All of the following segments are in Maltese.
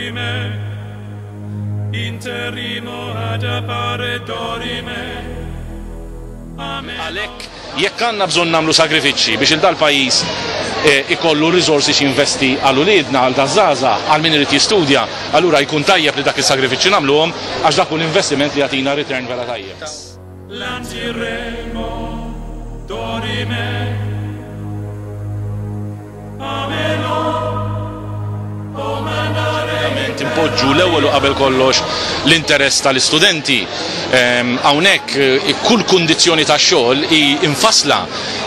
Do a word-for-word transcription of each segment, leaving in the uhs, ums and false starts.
Dorime, interimo ad appare dorime. Amen. Għalhekk jekk għandna bżonn nagħmlu sagrifiċċji biex il dal-pajjiż eh, ikollu risorsi x'investi għal uliedna, għal daż-żgħażagħ, għal min irid jistudja, allura jkun tajjeb li dak is-sagrifiċċju nagħmluhom, għax dak hu l-investiment li jagħtina return vera tajjeb. Lantiremo, dorime. Amelo, o mandare. Ovvjament impoġġu l-ewwel u qabel kollox l-interess tal-istudenti. Ehm, Hawnhekk eh, kull kundizzjoni ta' xogħol hi infasla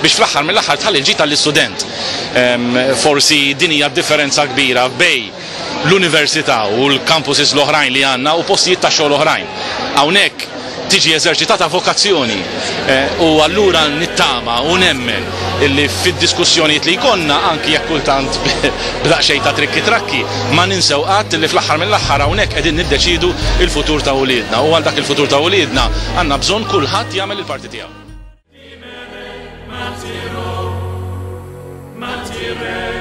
biex fl-aħħar mill-aħħar tħalli l-ġid tal-istudent. Ehm, Forsi din hija differenza kbira bejn l-università u l-campuses l-oħrajn li għandna u postijiet ta' xogħol oħrajn. Hawnhekk tiġi eżerċitata vokazzjoni eh, u allura nittama u nemmen illi fid-diskussjonijiet li jkollna, anki jekk kultant b'daqsxejn ta' trikki trakki, ma ninsew qatt li fl-aħħar mill-aħħar hawnhekk qegħdin niddeċidu il-futur ta' uliedna, u għal dak il-futur ta' uliedna għandna bżonn kulħadd jagħmel il-parti tiegħu. Martiro, martire.